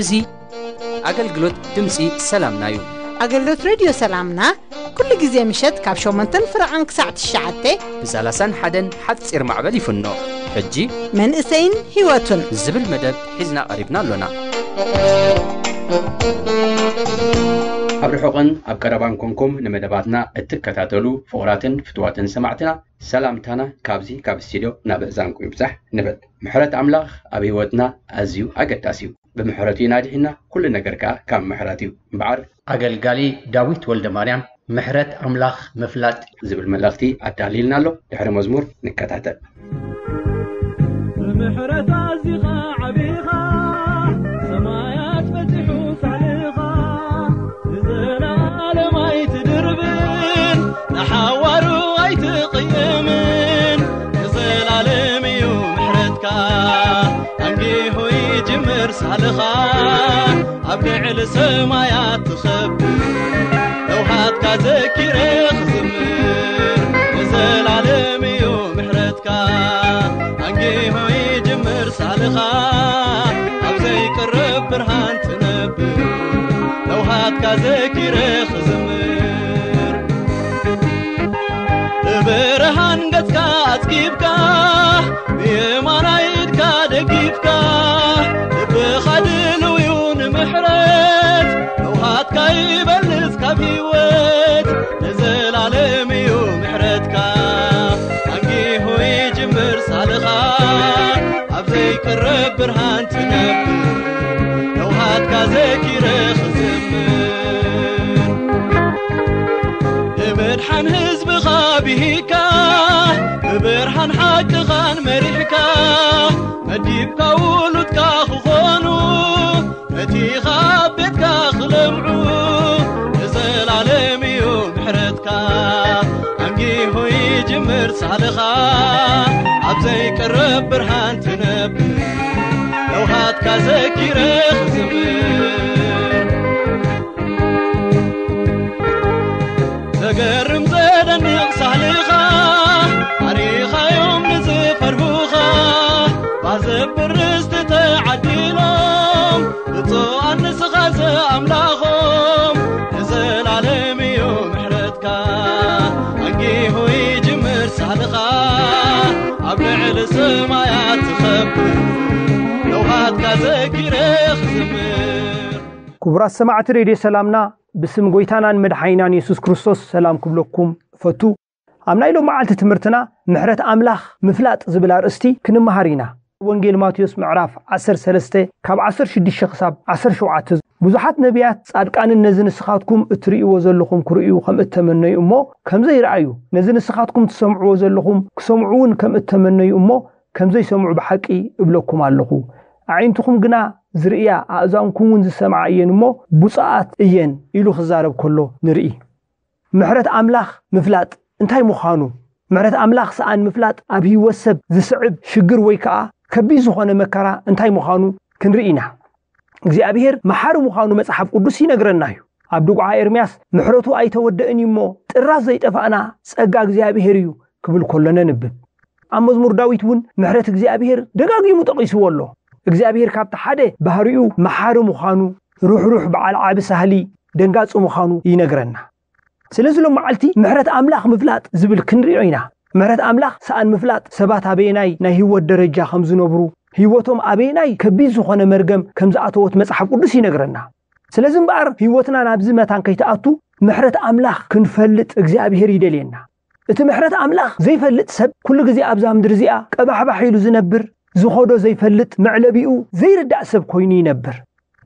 እዚ ኣገልግሎት ድምፂ ሰላምና እዩ። ኣገልግሎት ሬድዮ ሰላምና ኩሉ ግዜ ምሸት ካብ ሸሞንተን ፍረቓን ክሳዕ ትሽዓተ ብሳላሳን ሓደን ሓፂር ማዕበል ይፍኖ። ሕጂ መንእሰይን ህይወቱን ዝብል መደብ ሒዝና ቀሪብና ኣሎና። ኣብ ርሑቕን ኣብ ቀረባን ኮንኩም ንመደባትና እትከታተሉ ፍቑራትን ፍትዋትን ሰማዕትና፣ ሰላምታና ካብዚ ካብ ስቱድዮ ናብ እዛንኩም ይብዛሕ ንብል። ምሕረት ኣምላኽ ኣብ ህይወትና ኣዝዩ ኣገዳሲ እዩ። ብምሕረቱ ኢና ድሒና፣ ኩሉ ነገር ከኣ ካብ ምሕረት እዩ። እምበኣር ኣገልጋሊ ዳዊት ወልደ ማርያም ምሕረት ኣምላኽ ምፍላጥ ዝብል መልእኽቲ ኣዳልይልና ኣሎ። ድሕሪ መዝሙር ንከታተል። ብምሕረት ኣዚኻ ዓቢኻ፣ ሰማያት በጺሑ ሳዕልኻ፣ ንዘለኣለም ኣይትድርብን፣ ንሓዋሩ ኣይትቕየምን። ንዘለኣለም እዩ ምሕረትካ፣ ኣንጊሁ ይጅምር ሳልኻ፣ ኣብ ልዕሊ ሰማያት ትኸብር። ለውሃትካ ዘኪረ ክዝምር፣ ንዘለኣለም እዩ ምሕረትካ፣ ኣንጊሁ ይጅምር ሳልኻ፣ ኣብ ዘይቅረብ ብርሃን ትነብር። ለውሃትካ ዘኪረ ክዝምር፣ ብብርሃን ገጽካ ኣጽጊብካ፣ ብየማናይ ኢድካ ደጊፍካ፣ ልብኻ ድልው እዩ ንምሕረት። ለውሃትካ ይበልጽ ካብ ህይወት፣ ንዘላለም እዩ ምሕረትካ። ኣንጊሁ ይጅምር ሳልኻ፣ ኣብ ዘይቅረብ ብርሃን ትነብር። ለውሃትካ ዘኪረ ክዝምር፣ ንምድሓን ህዝብኻ ብሂካ፣ ብብርሃን ሓቅኻን መሪሕካ፣ መዲብካ ውሉድካ ክኾኑ፣ ነቲ ካብ ቤትካ ክለምዑ። ንዘላለም እዩ ምሕረትካ፣ ኣንጊሁ ይጅምር ሳልኻ፣ ኣብ ዘይቅረብ ብርሃን ትነብር። ለውሃትካ ዘኪረ ክዝምር፣ ዘገርም ዘደንቕ ሳህልኻ፣ ኣሪኻዮም ንዝፈርሁኻ፣ ባዘብር ርስቲ ተዓዲሎም፣ ብፁዓን ንስኻ ዘኣምላኾም። ንዘላለም እዩ ምሕረትካ፣ ኣንጊሁ ይጅምር ሳህልኻ፣ ኣብ ልዕሊ ሰማያት ትኸብር። ለውሃትካ ዘኪረ ክዝምር። ክቡራት ሰማዕቲ ሬድዮ ሰላምና፣ ብስም ጎይታናን መድሓኒናን የሱስ ክርስቶስ ሰላም ክብለኩም እፈቱ። ኣብ ናይ ሎም መዓልቲ ትምህርትና ምሕረት ኣምላኽ ምፍላጥ ዝብል ኣርእስቲ ክንመሃር ኢና። ወንጌል ማቴዎስ ምዕራፍ ዓሰርተ ሰለስተ ካብ ዓሰርተ ሽዱሽተ ክሳብ ዓሰርተ ሸውዓተ፣ ብዙሓት ነቢያት ጻድቃንን ነዚ ንስኻትኩም እትርእይዎ ዘለኹም ክርእዩ ከም እተመነዩ እሞ ከም ዘይረኣዩ፣ ነዚ ንስኻትኩም ትሰምዕዎ ዘለኹም ክሰምዑ እውን ከም እተመነዩ እሞ ከም ዘይሰምዑ ብሓቂ እብለኩም ኣለኹ። ኣዒንትኹም ግና ዝርእያ፣ ኣእዛንኩም እውን ዝሰምዓ እየን እሞ ብፁዓት እየን ኢሉ ክዛረብ ከሎ ንርኢ። ምሕረት ኣምላኽ ምፍላጥ እንታይ ምዃኑ፣ ምሕረት ኣምላኽ ሰኣን ምፍላጥ ኣብ ህይወት ሰብ ዝስዕብ ሽግር ወይ ከኣ ከቢድ ዝኾነ መከራ እንታይ ምዃኑ ክንርኢ ኢና። እግዚኣብሔር መሓሪ ምዃኑ መጽሓፍ ቅዱስ ይነግረና እዩ። ኣብ ድጉዓ ኤርምያስ፣ "ምሕረቱ ኣይተወደእን እዩ እሞ፣ ጥራዝ ዘይጠፋእና ጸጋ እግዚኣብሔር እዩ" ክብል ከሎ ነንብብ። ኣብ መዝሙር ዳዊት እውን ምሕረት እግዚኣብሔር ደጋጊሙ ጠቒስዎ ኣሎ። እግዚኣብሔር ካብቲ ሓደ ባህሪኡ መሓሪ ምዃኑ፣ ርሕሩሕ በዓል ዓቢ ሳህሊ፣ ደንጋጺ ምዃኑ ይነግረና። ስለዚ ሎም መዓልቲ ምሕረት ኣምላኽ ምፍላጥ ዝብል ክንሪኦ ኢና። ምሕረት ኣምላኽ ሰኣን ምፍላጥ ሰባት ኣበየናይ ናይ ህይወት ደረጃ ከም ዝነብሩ፣ ህይወቶም ኣበየናይ ከቢድ ዝኾነ መርገም ከም ዝኣተወት መጽሓፍ ቅዱስ ይነግረና። ስለዚ እምበኣር ህይወትና ናብዚ መታን ከይትኣቱ ምሕረት ኣምላኽ ክንፈልጥ እግዚኣብሔር ይደልየና። እቲ ምሕረት ኣምላኽ ዘይፈልጥ ሰብ ኩሉ ግዜ ኣብዛ ምድሪ እዚኣ ቀባሕባሕ ኢሉ ዝነብር፣ ዝኸዶ ዘይፈልጥ፣ መዕለቢኡ ዘይርዳእ ሰብ ኮይኑ ይነብር።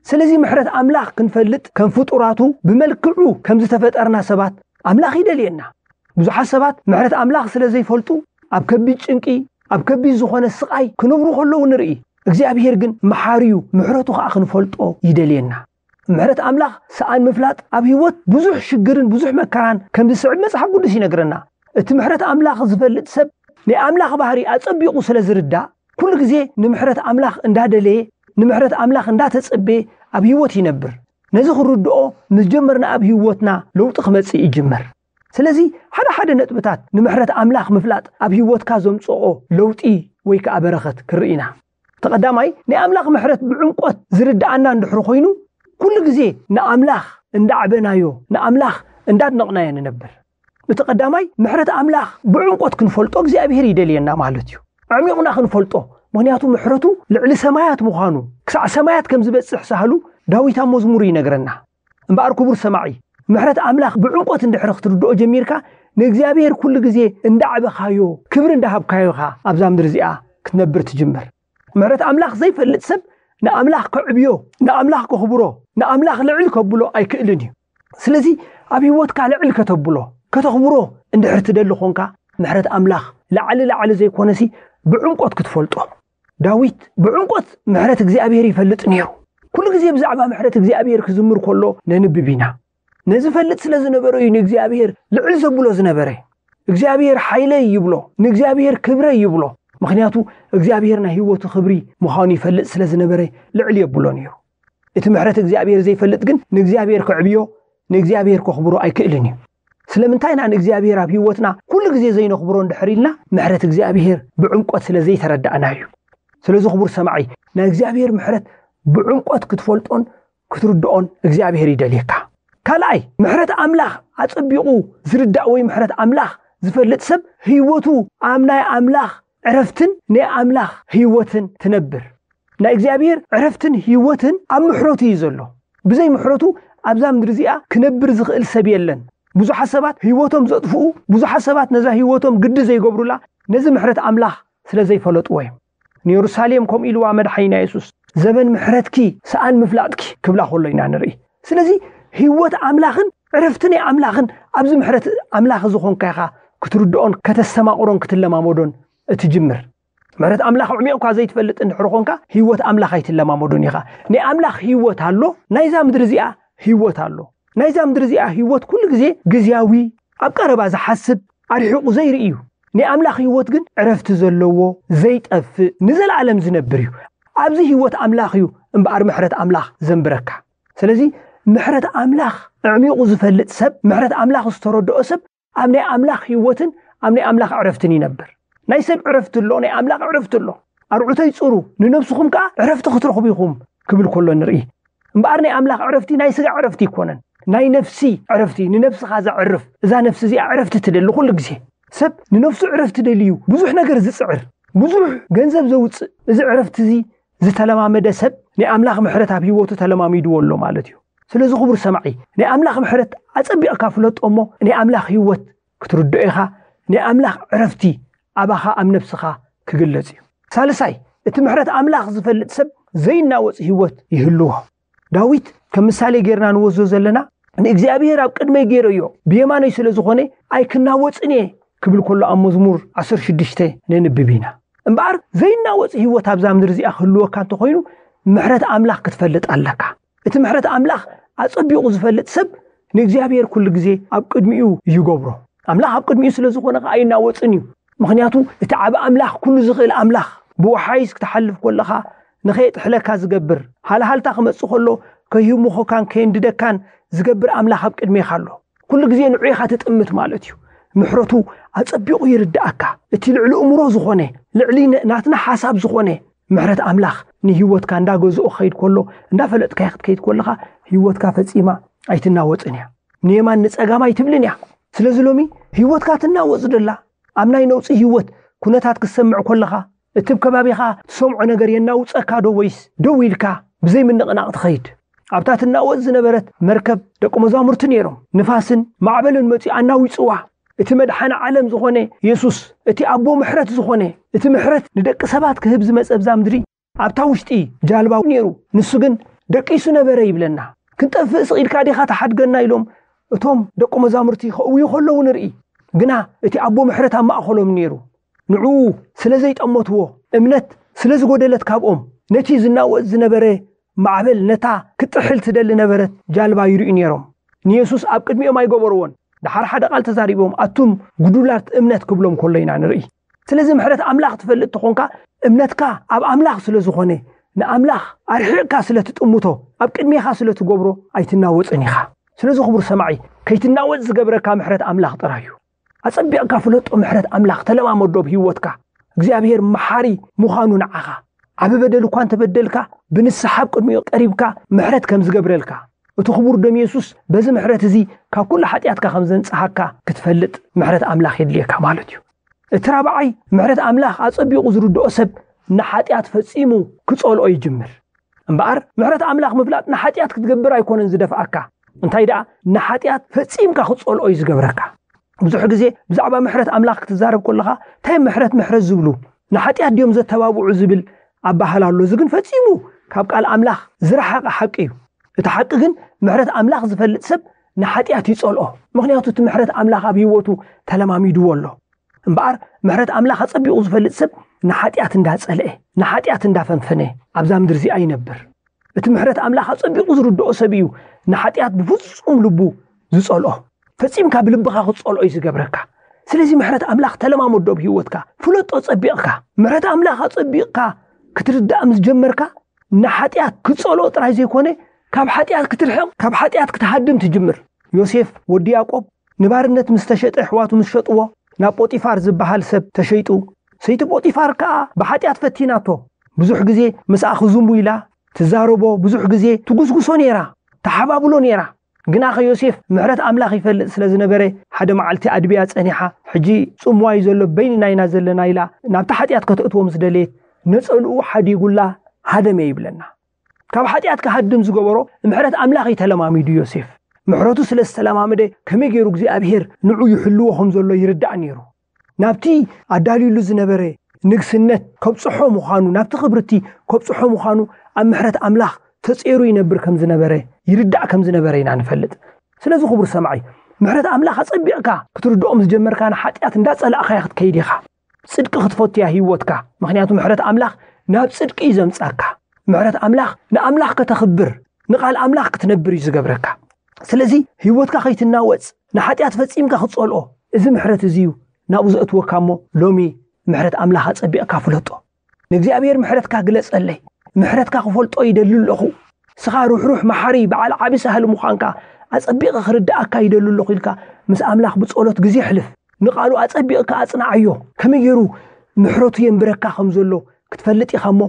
ስለዚ ምሕረት ኣምላኽ ክንፈልጥ ከም ፍጡራቱ ብመልክዑ ከም ዝተፈጠርና ሰባት ኣምላኽ ይደልየና። ብዙሓት ሰባት ምሕረት ኣምላኽ ስለ ዘይፈልጡ ኣብ ከቢድ ጭንቂ፣ ኣብ ከቢድ ዝኾነ ስቓይ ክነብሩ ከለዉ ንርኢ። እግዚኣብሔር ግን መሓሪ እዩ፣ ምሕረቱ ኸኣ ክንፈልጦ ይደልየና። ምሕረት ኣምላኽ ሰኣን ምፍላጥ ኣብ ህይወት ብዙሕ ሽግርን ብዙሕ መከራን ከም ዝስዕብ መጽሓፍ ቅዱስ ይነግረና። እቲ ምሕረት ኣምላኽ ዝፈልጥ ሰብ ናይ ኣምላኽ ባህሪ ኣጸቢቑ ስለ ዝርዳእ፣ ኩሉ ግዜ ንምሕረት ኣምላኽ እንዳደለየ፣ ንምሕረት ኣምላኽ እንዳተጸበየ ኣብ ህይወት ይነብር። ነዚ ክርድኦ ምስ ጀመርና ኣብ ህይወትና ለውጢ ክመጽእ ይጅምር። ስለዚ ሓደ ሓደ ነጥብታት ንምሕረት ኣምላኽ ምፍላጥ ኣብ ህይወትካ ዘምጽኦ ለውጢ ወይ ከኣ በረኸት ክርኢ ኢና። እቲ ቀዳማይ፣ ናይ ኣምላኽ ምሕረት ብዕምቆት ዝርድኣና እንድሕር ኮይኑ፣ ኩሉ ግዜ ንኣምላኽ እንዳዕበናዮ፣ ንኣምላኽ እንዳድነቕናዮ ንነብር። እቲ ቀዳማይ፣ ምሕረት ኣምላኽ ብዕምቆት ክንፈልጦ እግዚኣብሔር ይደልየና ማለት እዩ። ኣዕሚቑና ክንፈልጦ፣ ምኽንያቱ ምሕረቱ ልዕሊ ሰማያት ምዃኑ፣ ክሳዕ ሰማያት ከም ዝበጽሕ ሳህሉ ዳዊት ኣብ መዝሙሩ ይነግረና። እምበኣር ክቡር ሰማዒ፣ ምሕረት ኣምላኽ ብዕምቆት እንድሕር ክትርድኦ ጀሚርካ፣ ንእግዚኣብሔር ኩሉ ግዜ እንዳዕበኻዮ፣ ክብሪ እንዳሃብካዮ ኢኻ ኣብዛ ምድሪ እዚኣ ክትነብር ትጅምር። ምሕረት ኣምላኽ ዘይፈልጥ ሰብ ንኣምላኽ ከዕብዮ፣ ንኣምላኽ ከኽብሮ፣ ንኣምላኽ ልዕል ከብሎ ኣይክእልን እዩ። ስለዚ ኣብ ህይወትካ ልዕል ከተብሎ፣ ከተኽብሮ እንድሕር ትደሊ ኾንካ፣ ምሕረት ኣምላኽ ላዕሊ ላዕሊ ዘይኮነሲ ብዕምቆት ክትፈልጦ። ዳዊት ብዕምቆት ምሕረት እግዚኣብሔር ይፈልጥ ነይሩ። ኩሉ ግዜ ብዛዕባ ምሕረት እግዚኣብሔር ክዝምር ከሎ ነንብብ ኢና። ነዚ ፈልጥ ስለ ዝነበረ እዩ ንእግዚኣብሔር ልዕል ዘብሎ ዝነበረ። እግዚኣብሔር ሓይለይ ይብሎ፣ ንእግዚኣብሔር ክብረይ ይብሎ። ምኽንያቱ እግዚኣብሔር ናይ ህይወቱ ክብሪ ምዃኑ ይፈልጥ ስለ ዝነበረ ልዕል የብሎ ነይሩ። እቲ ምሕረት እግዚኣብሔር ዘይፈልጥ ግን ንእግዚኣብሔር ከዕብዮ፣ ንእግዚኣብሔር ከኽብሮ ኣይክእልን እዩ። ስለምንታይ ኢና ንእግዚኣብሔር ኣብ ህይወትና ኩሉ ግዜ ዘይነኽብሮ እንድሕር ኢልና፣ ምሕረት እግዚኣብሔር ብዕምቆት ስለ ዘይተረዳእና እዩ። ስለዚ ክቡር ሰማዒ፣ ናይ እግዚኣብሔር ምሕረት ብዕምቆት ክትፈልጦን ክትርድኦን እግዚኣብሔር ይደልየካ። ካልኣይ፣ ምሕረት ኣምላኽ ኣጸቢቑ ዝርዳእ ወይ ምሕረት ኣምላኽ ዝፈልጥ ሰብ ህይወቱ ኣብ ናይ ኣምላኽ ዕረፍትን ናይ ኣምላኽ ህይወትን ትነብር። ናይ እግዚኣብሔር ዕረፍትን ህይወትን ኣብ ምሕረቱ እዩ ዘሎ። ብዘይ ምሕረቱ ኣብዛ ምድሪ እዚኣ ክነብር ዝኽእል ሰብ የለን። ብዙሓት ሰባት ህይወቶም ዘጥፍኡ፣ ብዙሓት ሰባት ነዛ ህይወቶም ግዲ ዘይገብሩላ ነዚ ምሕረት ኣምላኽ ስለ ዘይፈለጥዎ እዮም። ንየሩሳሌም ከምኡ ኢልዋ መድሓኒና የሱስ፣ "ዘበን ምሕረትኪ ሰኣን ምፍላጥኪ" ክብላ ከሎ ኢና ንርኢ። ስለዚ ህይወት ኣምላኽን ዕረፍቲ ናይ ኣምላኽን ኣብዚ ምሕረት ኣምላኽ ዝኾንካ ኢኻ ክትርድኦን ከተስተማቕሮን ክትለማመዶን እትጅምር። ምሕረት ኣምላኽ ኣዕሚቕካ ዘይትፈልጥ እንድሕር ኾንካ፣ ህይወት ኣምላኽ ኣይትለማመዶን ኢኻ። ናይ ኣምላኽ ህይወት ኣሎ፣ ናይዛ ምድሪ እዚኣ ህይወት ኣሎ። ናይዛ ምድሪ እዚኣ ህይወት ኩሉ ግዜ ግዝያዊ፣ ኣብ ቀረባ ዝሓስብ፣ ኣርሒቑ ዘይርኢ እዩ። ናይ ኣምላኽ ህይወት ግን ዕረፍቲ ዘለዎ፣ ዘይጠፍእ፣ ንዘለኣለም ዝነብር እዩ። ኣብዚ ህይወት ኣምላኽ እዩ እምበኣር ምሕረት ኣምላኽ ዘንብረካ። ስለዚ ምሕረት ኣምላኽ ኣዕሚቑ ዝፈልጥ ሰብ፣ ምሕረት ኣምላኽ ዝተረድኦ ሰብ ኣብ ናይ ኣምላኽ ህይወትን ኣብ ናይ ኣምላኽ ዕረፍትን ይነብር። ናይ ሰብ ዕረፍቲ ኣሎ፣ ናይ ኣምላኽ ዕረፍቲ ኣሎ። "ኣርዑተይ ጽሩ፣ ንነብስኹም ከኣ ዕረፍቲ ክትረኽቡ ኢኹም" ክብል ከሎ ንርኢ። እምበኣር ናይ ኣምላኽ ዕረፍቲ ናይ ስጋ ዕረፍቲ ኣይኮነን፣ ናይ ነፍሲ ዕረፍቲ፣ ንነብስኻ ዘዕርፍ። እዛ ነፍሲ እዚኣ ዕረፍቲ ትደሊ ኩሉ ግዜ። ሰብ ንነፍሱ ዕረፍቲ ደልዩ ብዙሕ ነገር ዝጽዕር፣ ብዙሕ ገንዘብ ዘውጽእ፣ እዚ ዕረፍቲ እዚ ዝተለማመደ ሰብ ናይ ኣምላኽ ምሕረት ኣብ ህይወቱ ተለማሚድዎ ኣሎ ማለት እዩ። ስለዚ ክቡር ሰማዒ፣ ናይ ኣምላኽ ምሕረት ኣጸቢቕካ ፍለጦ እሞ ናይ ኣምላኽ ህይወት ክትርድኦ ኢኻ። ናይ ኣምላኽ ዕረፍቲ ኣባኻ ኣብ ነብስኻ ክግለጽ እዩ። ሳልሳይ፣ እቲ ምሕረት ኣምላኽ ዝፈልጥ ሰብ ዘይናወጽ ህይወት ይህልዎ። ዳዊት ከም ምሳሌ ጌርና ንወስዶ ዘለና፣ "ንእግዚኣብሔር ኣብ ቅድመይ ጌረዮ፣ ብየማነይ ስለ ዝኾነ ኣይክናወጽን እየ" ክብል ከሎ ኣብ መዝሙር ዓሰርተ ሽዱሽተ ነንብብ ኢና። እምበኣር ዘይናወጽ ህይወት ኣብዛ ምድሪ እዚኣ ክህልወካ እንተኾይኑ፣ ምሕረት ኣምላኽ ክትፈልጥ ኣለካ። እቲ ምሕረት ኣምላኽ ኣጸቢቑ ዝፈልጥ ሰብ ንእግዚኣብሔር ኩሉ ግዜ ኣብ ቅድሚኡ ይገብሮ። ኣምላኽ ኣብ ቅድሚኡ ስለ ዝኾነ ከኣ ኣይናወጽን እዩ። ምኽንያቱ እቲ ዓቢ ኣምላኽ፣ ኩሉ ዝኽእል ኣምላኽ፣ ብወሓይዝ ክትሓልፍ ከለኻ ንኸየጥሕለካ ዝገብር፣ ሃልሃልታ ክመጽእ ከሎ ከይህምኾካን ከየንድደካን ዝገብር ኣምላኽ ኣብ ቅድሜኻ ኣሎ። ኩሉ ግዜ ንዑ ኢኻ ትጥምት ማለት እዩ። ምሕረቱ ኣጸቢቑ ይርድኣካ። እቲ ልዕሊ እምሮ ዝኾነ፣ ልዕሊ ነ-፣ ናትና ሓሳብ ዝኾነ ምሕረት ኣምላኽ ንህይወትካ እንዳገዝኦ ክኸይድ ከሎ፣ እንዳፈለጥካዮ ክትከይድ ከለኻ፣ ህይወትካ ፈጺማ ኣይትናወጽን እያ። ንየማን ንጸጋም ኣይትብልን እያ። ስለዚ ሎሚ ህይወትካ ትናወጽ ደላ፣ ኣብ ናይ ነውጺ ህይወት ኩነታት ክትሰምዕ ከለኻ፣ እቲ ኣብ ከባቢኻ ትሰምዖ ነገር የናውጸካ ዶ ወይስ ደው ኢልካ ብዘይ ምንቕናቕ ትኸይድ? ኣብታ ትናወጽ ዝነበረት መርከብ ደቂ መዛሙርቲ ነይሮም። ንፋስን ማዕበልን መጺኡ ኣናዊጽዋ። እቲ መድሓኒ ዓለም ዝኾነ የሱስ፣ እቲ ኣቦ ምሕረት ዝኾነ፣ እቲ ምሕረት ንደቂ ሰባት ክህብ ዝመጸ ኣብዛ ምድሪ፣ ኣብታ ውሽጢ ጃልባ ነይሩ። ንሱ ግን ደቂሱ ነበረ ይብለና። "ክንጠፍእ ስቕ ኢልካ ዲኻ ትሓድገና?" ኢሎም እቶም ደቂ መዛሙርቲ ከእውዩ ከለዉ ንርኢ። ግና እቲ ኣቦ ምሕረት ኣብ ማእከሎም ነይሩ። ንዕኡ ስለ ዘይጠመትዎ፣ እምነት ስለ ዝጎደለት ካብኦም፣ ነቲ ዝናወጽ ዝነበረ ማዕበል፣ ነታ ክትጥሕል ትደሊ ነበረት ጃልባ ይርእዩ ነይሮም። ንየሱስ ኣብ ቅድሚኦም ኣይገበርዎን። ደሓር ሓደ ቃል ተዛሪቦም፣ "ኣቱም ጉዱላት እምነት" ክብሎም ከሎ ኢና ንርኢ። ስለዚ ምሕረት ኣምላኽ ትፈልጥ ተኾንካ፣ እምነትካ ኣብ ኣምላኽ ስለ ዝኾነ፣ ንኣምላኽ ኣርሒቕካ ስለ ትጥምቶ፣ ኣብ ቅድሜኻ ስለ ትገብሮ ኣይትናወጽን ኢኻ። ስለዚ ክቡር ሰማዒ፣ ከይትናወጽ ዝገብረካ ምሕረት ኣምላኽ ጥራይ እዩ። ኣጸቢቕካ ፍለጦ ምሕረት ኣምላኽ፣ ተለማመዶ ኣብ ህይወትካ። እግዚኣብሔር መሓሪ ምዃኑ ንዓኻ። ዓቢ በደል እኳ እንተበደልካ፣ ብንስሓ ኣብ ቅድሚኡ ቀሪብካ ምሕረት ከም ዝገብረልካ፣ እቲ ክቡር ደም የሱስ በዚ ምሕረት እዚ ካብ ኩሉ ሓጢኣትካ ከም ዘንጽሃካ ክትፈልጥ ምሕረት ኣምላኽ የድልየካ ማለት እዩ። እቲ ራብዓይ፣ ምሕረት ኣምላኽ ኣጸቢቑ ዝርድኦ ሰብ ንሓጢኣት ፈጺሙ ክጸልኦ ይጅምር። እምበኣር ምሕረት ኣምላኽ ምፍላጥ ንሓጢኣት ክትገብር ኣይኮነን ዝደፍኣካ፣ እንታይ ደኣ ንሓጢኣት ፈጺምካ ክትጸልኦ እዩ ዝገብረካ። ብዙሕ ግዜ ብዛዕባ ምሕረት ኣምላኽ ክትዛረብ ከለኻ፣ እንታይ ምሕረት ምሕረት ዝብሉ፣ ንሓጢኣት ድዮም ዘተባብዑ ዝብል ኣባህላ ኣሎ። እዚ ግን ፈጺሙ ካብ ቃል ኣምላኽ ዝረሓቐ ሓቂ እዩ። እቲ ሓቂ ግን ምሕረት ኣምላኽ ዝፈልጥ ሰብ ንሓጢኣት ይጸልኦ፣ ምኽንያቱ እቲ ምሕረት ኣምላኽ ኣብ ህይወቱ ተለማሚድዎ ኣሎ። እምበኣር ምሕረት ኣምላኽ ኣጸቢቑ ዝፈልጥ ሰብ ንሓጢኣት እንዳጸልአ፣ ንሓጢኣት እንዳፈንፈነ ኣብዛ ምድሪ እዚኣ ይነብር። እቲ ምሕረት ኣምላኽ ኣጸቢቑ ዝርድኦ ሰብ እዩ ንሓጢኣት ብፍጹም ልቡ ዝጸልኦ። ፈጺምካ ብልብኻ ክትጸልኦ እዩ ዝገብረካ። ስለዚ ምሕረት ኣምላኽ ተለማመዶ ኣብ ህይወትካ፣ ፍለጦ ጸቢቕካ። ምሕረት ኣምላኽ ኣጸቢቕካ ክትርዳእ ምስ ጀመርካ፣ ንሓጢኣት ክትጸልኦ ጥራይ ዘይኮነ፣ ካብ ሓጢኣት ክትርሕቕ፣ ካብ ሓጢኣት ክትሃድም ትጅምር። ዮሴፍ ወዲ ያዕቆብ ንባርነት ምስ ተሸጠ፣ ኣሕዋቱ ምስ ሸጥዎ፣ ናብ ጶጢፋር ዝበሃል ሰብ ተሸይጡ። ሰይቲ ጶጢፋር ከኣ ብሓጢኣት ፈቲናቶ። ብዙሕ ግዜ ምስኣ ክዝሙ ኢላ ትዛረቦ፣ ብዙሕ ግዜ ትጉስጉሶ ነይራ፣ ትሓባብሎ ነይራ። ግናኸ ዮሴፍ ምሕረት ኣምላኽ ይፈልጥ ስለ ዝነበረ፣ ሓደ መዓልቲ ኣድብያ ጸኒሓ፣ ሕጂ ጽምዋ እዩ ዘሎ፣ በይንና ኢና ዘለና ኢላ ናብቲ ሓጢኣት ከተእትዎ ምስ ደለየት፣ ነጸልኡ ሓዲጉላ ሃደመ ይብለና። ካብ ሓጢኣት ክሃድም ዝገበሮ ምሕረት ኣምላኽ እዩ ተለማሚዱ ዮሴፍ። ምሕረቱ ስለ ዝተለማመደ፣ ከመይ ገይሩ እግዚኣብሄር ንዑ ይሕልዎ ከም ዘሎ ይርዳእ ነይሩ። ናብቲ ኣዳልዩሉ ዝነበረ ንግስነት ከብጽሖ ምዃኑ፣ ናብቲ ክብርቲ ከብጽሖ ምዃኑ ኣብ ምሕረት ኣምላኽ ተጸይሩ ይነብር ከም ዝነበረ፣ ይርዳእ ከም ዝነበረ ኢና ንፈልጥ። ስለዚ ክቡር ሰማዒ፣ ምሕረት ኣምላኽ ኣጸቢቕካ ክትርድኦ ምስ ጀመርካ፣ ንሓጢኣት እንዳጸላእኻያ ክትከይድ ኢኻ። ጽድቂ ክትፈቱ እያ ህይወትካ። ምኽንያቱ ምሕረት ኣምላኽ ናብ ጽድቂ እዩ ዘምጻካ። ምሕረት ኣምላኽ ንኣምላኽ ከተኽብር፣ ንቓል ኣምላኽ ክትነብር እዩ ዝገብረካ። ስለዚ ህይወትካ ከይትናወጽ፣ ንሓጢኣት ፈጺምካ ክትጸልኦ፣ እዚ ምሕረት እዚ እዩ ናብኡ ዘእትወካ እሞ፣ ሎሚ ምሕረት ኣምላኽ ኣጸቢቕካ ፍለጦ። ንእግዚኣብሔር ምሕረትካ ግለጸለይ። ምሕረትካ ክፈልጦ ይደሊ ኣለኹ። ንስኻ ርሕሩሕ መሓሪ፣ በዓል ዓቢ ሳህሊ ምዃንካ ኣጸቢቐ ክርድኣካ ይደሊ ኣለኹ ኢልካ ምስ ኣምላኽ ብጸሎት ግዜ ኣሕልፍ። ንቓሉ ኣጸቢቕካ ኣጽንዓዮ። ከመይ ገይሩ ምሕረቱ የንብረካ ከም ዘሎ ክትፈልጥ ኢኻ እሞ፣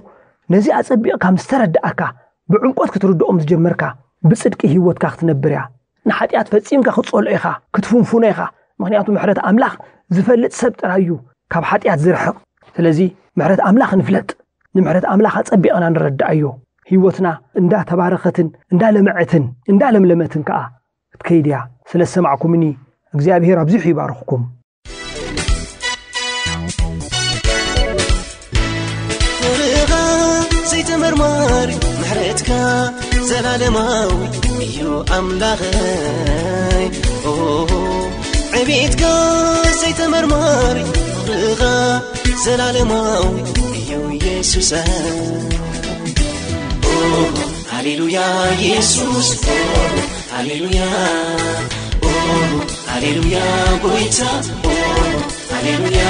ነዚ ኣጸቢቕካ ምስ ተረድኣካ፣ ብዕምቆት ክትርድኦ ምስ ጀመርካ፣ ብጽድቂ ህይወትካ ክትነብር እያ። ንሓጢኣት ፈጺምካ ክትጸልኦ ኢኻ፣ ክትፍንፍኖ ኢኻ። ምኽንያቱ ምሕረት ኣምላኽ ዝፈልጥ ሰብ ጥራይ እዩ ካብ ሓጢኣት ዝርሕቕ። ስለዚ ምሕረት ኣምላኽ ንፍለጥ። ንምሕረት ኣምላኽ ኣጸቢቕና ንረድኣዮ። ህይወትና እንዳተባረኸትን እንዳለምዐትን እንዳለምለመትን ከኣ ክትከይድ እያ። ስለ ዝሰማዕኩምኒ እግዚኣብሄር ኣብዚሑ ይባርኽኩም። ፍቕርኻ ዘይተመርማሪ፣ ምሕረትካ ዘላለማዊ እዩ ኣምላኸይ። ኦ፣ ዕቤትካ ዘይተመርማሪ፣ ፍቕርኻ ዘላለማዊ እዩ የሱሰይ። ኦ፣ ሃሌሉያ የሱስ፣ ኦ፣ ሃሌሉያ፣ ኦ፣ ሃሌሉያ ጎይታ፣ ኦ፣ ሃሌሉያ።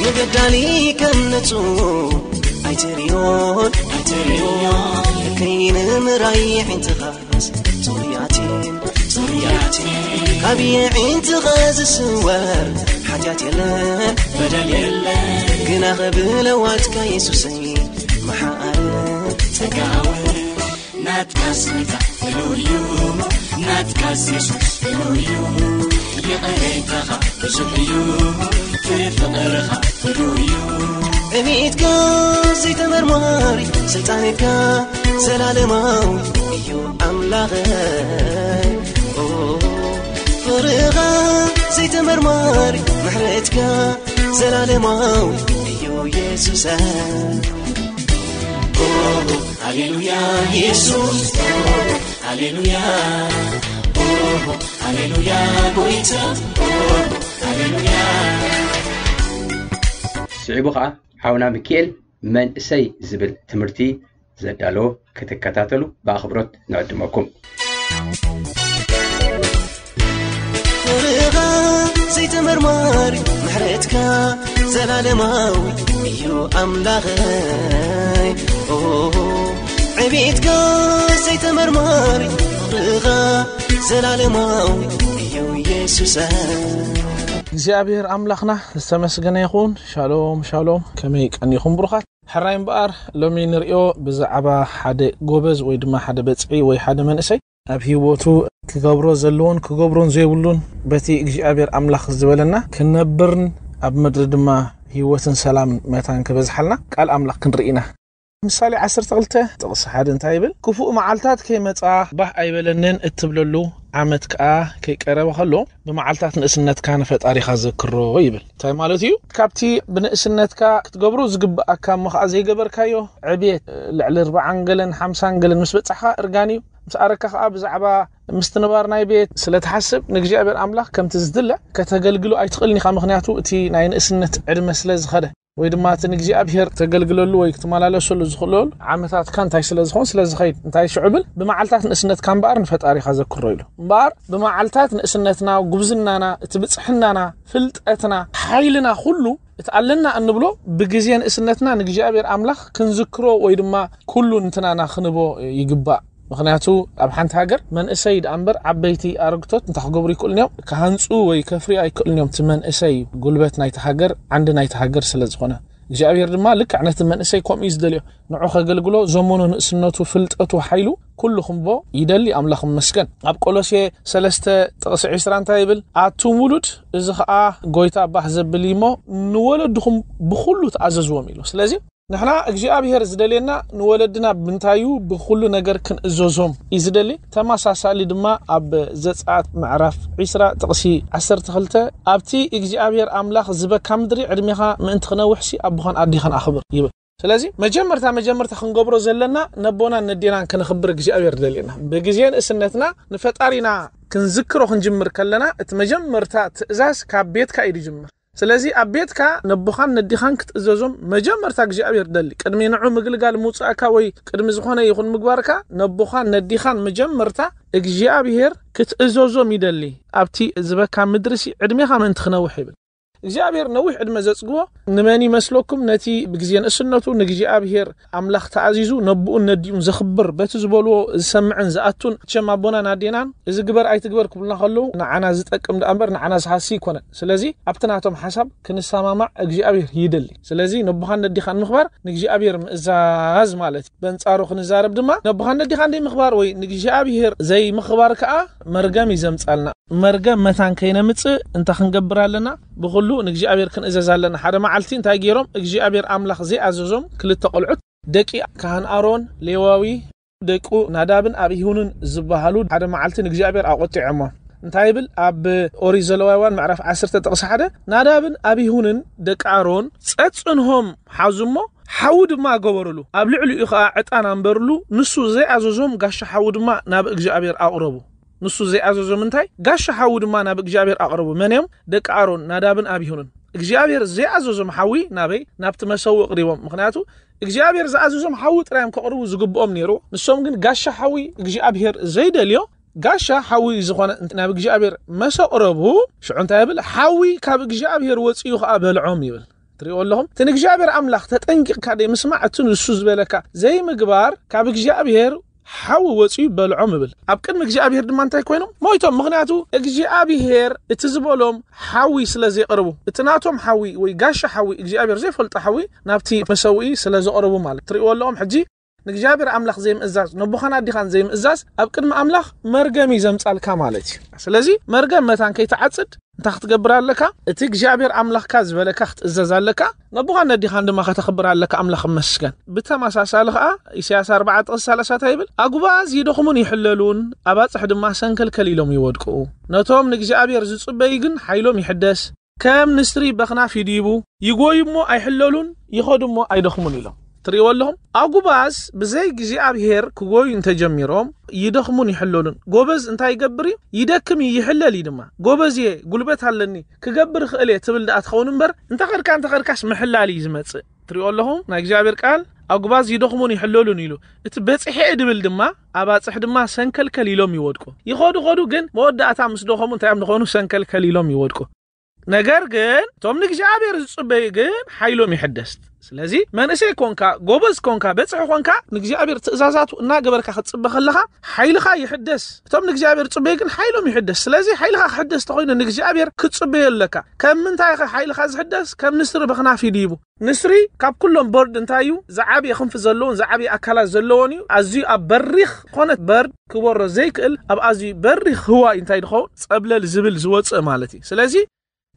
ንበዳሊ ከም ነጹ ኣይትርእዮን፣ ኣይትርእዮን። ከይንምራይ ኣዒንትኻስ ጽሩያት እየን፣ ጽሩያት እየን። ካብ ኣዒንትኻ ዝስወር ሓጢኣት የለን፣ በደል የለን። ግናኸ ብለዋትካ የሱሰይ መሓሪ ጸጋዊ ናትካ ስልጣን ፍሉይ እዩ፣ ናትካ የሱስ ፍሉይ እዩ። ይቕሬታኻ ብዙሕ እዩ፣ ፍቕርኻ ፍሉይ እዩ። ዕቤትካ ዘይተመርማሪ፣ ስልጣንካ ዘላለማዊ እዩ ኣምላኸይ። ኦ፣ ፍቕርኻ ዘይተመርማሪ፣ ምሕረትካ ዘላለማዊ እዩ የሱሰይ። ኦ፣ ሃሌሉያ የሱስ፣ ኦ፣ ሃሌሉያ፣ ኦ፣ ሃሌሉያ ጎይታ፣ ኦ፣ ሃሌሉያ። ስዒቡ ኸኣ ሓውና ሚኪኤል መንእሰይ ዝብል ትምህርቲ ዘዳለዎ ክትከታተሉ ብኣኽብሮት ንዕድመኩም። ፍቕርኻ ዘይተመርማሪ ምሕረትካ ዘላለማዊ እዩ ኣምላኸይ። ኦ፣ ዕቤትካ ዘይተመርማሪ ፍቕርኻ ዘላለማዊ እዩ የሱሰይ። እግዚኣብሔር ኣምላኽና ዝተመስገነ ይኹን። ሻሎም ሻሎም፣ ከመይ ቀኒኹም ብሩኻት? ሕራይ እምበኣር ሎሚ ንርእዮ ብዛዕባ ሓደ ጎበዝ ወይ ድማ ሓደ በጽሒ ወይ ሓደ መንእሰይ ኣብ ህይወቱ ክገብሮ ዘለዎን ክገብሮን ዘይብሉን በቲ እግዚኣብሔር ኣምላኽ ዝበለና ክንነብርን ኣብ ምድሪ ድማ ህይወትን ሰላምን መታን ክበዝሓልና ቃል ኣምላኽ ክንርኢ ኢና። ምሳሌ ዓሰርተ ክልተ ጥቕሲ ሓደ እንታይ ይብል? ክፉእ መዓልታት ከይመጻ ባህ ኣይበለንን እትብለሉ ዓመት ከኣ ከይቀረበ ከሎ ብመዓልታት ንእስነትካ ንፈጣሪኻ ዘክሮ ይብል። እንታይ ማለት እዩ? ካብቲ ብንእስነትካ ክትገብሮ ዝግብኣካ እሞ ከኣ ዘይገበርካዮ ዕብየት ልዕሊ ኣርብዓን ገለን ሓምሳን ገለን ምስ በጻሕካ እርጋን እዩ። ምስ ኣረካ ከኣ ብዛዕባ ምስትንባር ናይ ቤት ስለ ትሓስብ ንእግዚኣብሔር ኣምላኽ ከምቲ ዝድለ ከተገልግሎ ኣይትኽእልን ኢኻ። ምኽንያቱ እቲ ናይ ንእስነት ዕድመ ስለ ዝኸደ ወይ ድማ እቲ ንእግዚኣብሔር ተገልግለሉ ወይ ክትመላለሰሉ ዝኽእለሉ ዓመታትካ እንታይ ስለ ዝኾን ስለ ዝኸይድ እንታይ ሽዑ ብል ብመዓልታት ንእስነትካ እምበኣር ንፈጣሪኻ ዘክሮ ኢሉ። እምበኣር ብመዓልታት ንእስነትና፣ ጉብዝናና፣ እቲ ብጽሕናና፣ ፍልጠትና፣ ሓይልና ኩሉ እቲ ኣለና እንብሎ ብግዜ ንእስነትና ንእግዚኣብሔር ኣምላኽ ክንዝክሮ ወይ ድማ ኩሉ እንትናና ክንቦ ይግባእ። ምኽንያቱ ኣብ ሓንቲ ሃገር መንእሰይ ደኣ እምበር ዓበይቲ ኣረግቶት እንታይ ክገብሩ ይክእሉን እዮም? ክሃንጹ ወይ ከፍርዩ ኣይክእሉን እዮም። እቲ መንእሰይ ጉልበት ናይቲ ሃገር፣ ዓንዲ ናይቲ ሃገር ስለ ዝኾነ እግዚኣብሔር ድማ ልክዕ ነቲ መንእሰይ ከምኡ እዩ ዝደልዮ። ንዑ ከገልግሎ ዘመኑ፣ ንእስነቱ፣ ፍልጠቱ፣ ሓይሉ ኩሉ ክንቦ ይደሊ። ኣምላኽ ይመስገን። ኣብ ቆሎሴ ሰለስተ ጥቕሲ ዕስራ እንታይ ይብል? ኣቱም ውሉድ፣ እዚ ኸኣ ጎይታ ባህ ዘብል እዩ እሞ ንወለድኹም ብኹሉ ተኣዘዝዎም ኢሉ። ስለዚ ንሕና እግዚኣብሔር ዝደልየና ንወለድና ብምንታይ እዩ? ብኹሉ ነገር ክንእዘዞም እዩ ዝደሊ። ተመሳሳሊ ድማ ኣብ ዘጸኣት ምዕራፍ ዕስራ ጥቕሲ ዓሰርተ ክልተ ኣብቲ እግዚኣብሔር ኣምላኽ ዝበካ ምድሪ ዕድሜኻ ምእንቲ ክነውሕሲ ኣቦኻን ኣዴኻን ኣኽብር ይብል። ስለዚ መጀመርታ መጀመርታ ክንገብሮ ዘለና ነቦናን ነዴናን ከነኽብር እግዚኣብሔር ደልየና። ብግዜ ንእስነትና ንፈጣሪና ክንዝክሮ ክንጅምር ከለና እቲ መጀመርታ ትእዛዝ ካብ ቤትካ እዩ ዝጅምር። ስለዚ ኣብ ቤትካ ነቦኻን ነዲኻን ክትእዘዞም መጀመርታ እግዚኣብሔር ደሊ። ቅድሚ ንዑ ምግልጋል ምውጻእካ ወይ ቅድሚ ዝኾነ ይኹን ምግባርካ ነቦኻን ነዲኻን መጀመርታ እግዚኣብሔር ክትእዘዞም ይደሊ። ኣብቲ ዝበካ ምድርሲ ዕድሜኻ ምእንቲ ክነውሕ ይብል። እግዚኣብሔር ነዊሕ ዕድመ ዘጽግቦ ንመን ይመስለኩም? ነቲ ብግዜ ንእስነቱ ንእግዚኣብሔር ኣምላኽ ተኣዚዙ ነቦኡን ነዲኡን ዘኽብር፣ በቲ ዝበልዎ ዝሰምዕን ዝኣቱን። እቸም ኣቦናን ኣዴናን እዚ ግበር ኣይትግበር ክብሉና ከለዉ ንዓና ዝጠቅም ደኣ እምበር ንዓና ዝሃሲ ኣይኮነን። ስለዚ ኣብቲ ናቶም ሓሳብ ክንሰማማዕ እግዚኣብሔር ይደሊ። ስለዚ ነቦኻን ነዲኻን ምኽባር ንእግዚኣብሔር ምእዛዝ ማለት እዩ። በንጻሩ ክንዛረብ ድማ ነቦኻን ነዲኻን ዘይምኽባር ወይ ንእግዚኣብሔር ዘይምኽባር ከኣ መርገም እዩ ዘምጻልና። መርገም መታን ከይነምጽእ እንታይ ክንገብር ኣለና? ብኹሉ ንእግዚኣብሔር ክንእዘዝ ኣለና። ሓደ መዓልቲ እንታይ ገይሮም እግዚኣብሔር ኣምላኽ ዘይኣዘዞም ክልተ ቆልዑት ደቂ ካህን ኣሮን ሌዋዊ ደቁ ናዳብን ኣቢሁንን ዝበሃሉ ሓደ መዓልቲ ንእግዚኣብሔር ኣቖጢዖሞ። እንታይ ይብል? ኣብ ኦሪት ዘለዋውያን ምዕራፍ ዓሰርተ ጥቕሲ ሓደ፣ ናዳብን ኣቢሁንን ደቂ ኣሮን ጸጽንሆም ሓዙ እሞ ሓዊ ድማ ገበሩሉ፣ ኣብ ልዕሊኡ ኸኣ ዕጣን ኣንበሩሉ፣ ንሱ ዘይኣዘዞም ጋሻ ሓዊ ድማ ናብ እግዚኣብሔር ኣቕረቡ። ንሱ ዘይኣዘዞም እንታይ? ጋሻ ሓዊ ድማ ናብ እግዚኣብሔር ኣቕረቡ። መን እዮም? ደቂ ኣሮን ናዳብን ኣቢሁንን። እግዚኣብሔር ዘይኣዘዞም ሓዊ ናበይ? ናብቲ መሰዊ ኣቕሪቦም። ምኽንያቱ እግዚኣብሔር ዝኣዘዞም ሓዊ ጥራይ እዮም ከቕርቡ ዝግብኦም ነይሩ። ንሶም ግን ጋሻ ሓዊ እግዚኣብሔር ዘይደልዮ፣ ጋሻ ሓዊ ዝኾነ ናብ እግዚኣብሔር መሰ ኣቕረቡ። ሽዑ እንታይ ይብል? ሓዊ ካብ እግዚኣብሔር ወጺኡ ኸኣ በልዖም ይብል። ትሪእዎ ኣለኹም? እቲ ንእግዚኣብሔር ኣምላኽ ተጠንቂቕካ ደይ ምስማዕ፣ እቲ ንሱ ዝበለካ ዘይምግባር ካብ እግዚኣብሔር ሓዊ ወጺኡ በልዖም ይብል። ኣብ ቅድሚ እግዚኣብሔር ድማ እንታይ ኮይኖም? ሞይቶም። ምኽንያቱ እግዚኣብሔር እቲ ዝበሎም ሓዊ ስለ ዘይቕርቡ፣ እቲ ናቶም ሓዊ ወይ ጋሻ ሓዊ እግዚኣብሔር ዘይፈልጦ ሓዊ ናብቲ መሰውኢ ስለ ዘቕርቡ ማለት። ትሪእዎ ኣለኹም? ሕጂ ንእግዚኣብሔር ኣምላኽ ዘይምእዛዝ፣ ነቦኻን ኣዲኻን ዘይምእዛዝ ኣብ ቅድሚ ኣምላኽ መርገም እዩ ዘምጻልካ ማለት እዩ። ስለዚ መርገም መታን ከይትዓጽድ እንታይ ክትገብር ኣለካ? እቲ እግዚኣብሔር ኣምላኽካ ዝበለካ ክትእዘዝ ኣለካ። ነቦኻን ነዲኻን ድማ ከተኽብር ኣለካ። ኣምላኽ ይመስገን። ብተመሳሳሊ ኸኣ ኢሳያስ ኣርባዓ ጥቕሲ ሰላሳ እንታይ ይብል? ኣጉባዝ ይደኽሙን ይሕለሉን፣ ኣባጽሕ ድማ ሰንከልከል ኢሎም ይወድቁ። ነቶም ንእግዚኣብሔር ዝጽበዩ ግን ሓይሎም ይሕደስ። ከም ንስሪ በኽናፍ ይድይቡ፣ ይጎዩ እሞ ኣይሕለሉን፣ ይኸዱ እሞ ኣይደኽሙን ኢሎም። ትርእይዎ ኣለኹም? ኣጉባዝ ብዘይ እግዚኣብሔር ክጎዩ እንተጀሚሮም ይደኽሙን ይሕለሉን። ጎበዝ እንታይ ይገብር እዩ? ይደክም እዩ፣ ይሕለል እዩ ድማ። ጎበዝ እየ፣ ጉልበት ኣለኒ፣ ክገብር እኽእል እየ ትብል ደኣ ትኸውን እምበር፣ እንተኸድካ እንተኸድካስ ምሕላል እዩ ዝመጽእ። ትርእይዎ ኣለኹም? ናይ እግዚኣብሔር ቃል ኣጉባዝ ይደኽሙን ይሕለሉን ኢሉ። እቲ በጺሐ እየ ድብል ድማ፣ ኣባጽሕ ድማ ሰንከልከል ኢሎም ይወድቁ። ይኸዱ ኸዱ ግን መወዳእታ ምስ ደኸሙ እንታይ እዮም ዝኾኑ? ሰንከልከል ኢሎም ይወድቁ። ነገር ግን እቶም ንእግዚኣብሔር ዝጽበዩ ግን ሓይሎም ይሕደስ። ስለዚ መንእሰይ ኮንካ፣ ጎበዝ ኮንካ፣ በጽሒ ኮንካ፣ ንእግዚኣብሔር ትእዛዛቱ እናገበርካ ክትጽበ ከለኻ ሓይልኻ ይሕደስ። እቶም ንእግዚኣብሔር ዝጽበዩ ግን ሓይሎም ይሕደስ። ስለዚ ሓይልኻ ክሕደስ ተኾይኑ ንእግዚኣብሔር ክትጽበዮ ኣለካ። ከም ምንታይ ኢኻ ሓይልኻ ዝሕደስ? ከም ንስሪ በኽናፍ ይድይቡ። ንስሪ ካብ ኩሎም በርድ እንታይ እዩ? ዝዓብየ ክንፊ ዘለዎን ዝዓብየ ኣካላት ዘለዎን እዩ። ኣዝዩ ኣብ በሪኽ ዝኾነት በርድ ክበሮ ዘይክእል፣ ኣብ ኣዝዩ በሪኽ ህዋ እዩ እንታይ ድኸውን? ጸብለል ዝብል ዝወጽእ ማለት እዩ። ስለዚ